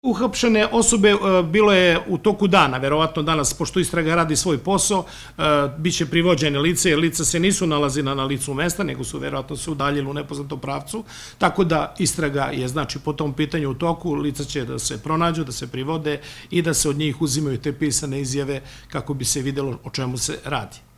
Uhapšene osobe bilo je u toku dana, verovatno danas, pošto istraga radi svoj posao, biće privođene lice, jer lica se nisu nalazila na licu mesta, nego su verovatno se udaljili u nepoznatom pravcu, tako da istraga je, znači, po tom pitanju u toku, lica će da se pronađu, da se privode i da se od njih uzimaju te pisane izjave kako bi se videlo o čemu se radi.